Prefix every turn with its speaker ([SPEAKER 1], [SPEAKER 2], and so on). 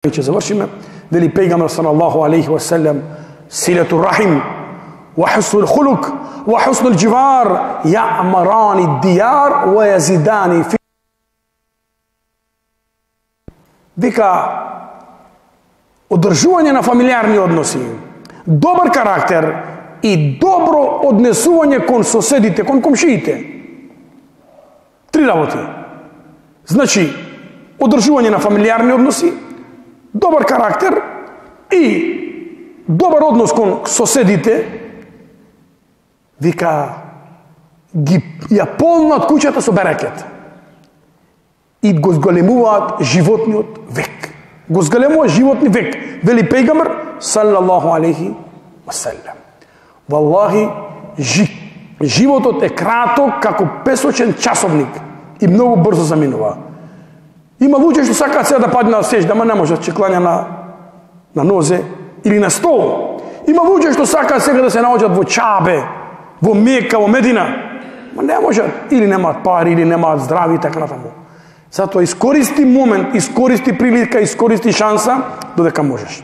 [SPEAKER 1] Ќе завршиме, вели пејгамбер салаллаху алейхи ва селем, силату рахим, ва хуснул хулук, ва хуснул џивар, јаъмарани дијар, ва јазидани фи. Вика, одржување на фамилиарни односи, добар карактер и добро однесување кон соседите, кон комшиите. Три работи. Значи, одржување на фамилиарни односи, добар карактер и добар однос кон соседите, вика, ги ја полнат куќата со берекет и го зголемуваат животниот век. Го зголемуваат животни век, вели пејгамбер салаллаху алейхи ва селем. Валлахи, животот е краток како песочен часовник и многу брзо заминува. Има луѓе што сакаат сега да падне на сеќда, ама не можат, ќе клања на нозе или на стол. Има луѓе што сакаат сега да се наоѓат во Чабе, во Мека, во Медина, ама не можат, или немаат пари, или немаат здрави и така натаму. Затоа искористи момент, искористи прилика, искористи шанса додека можеш.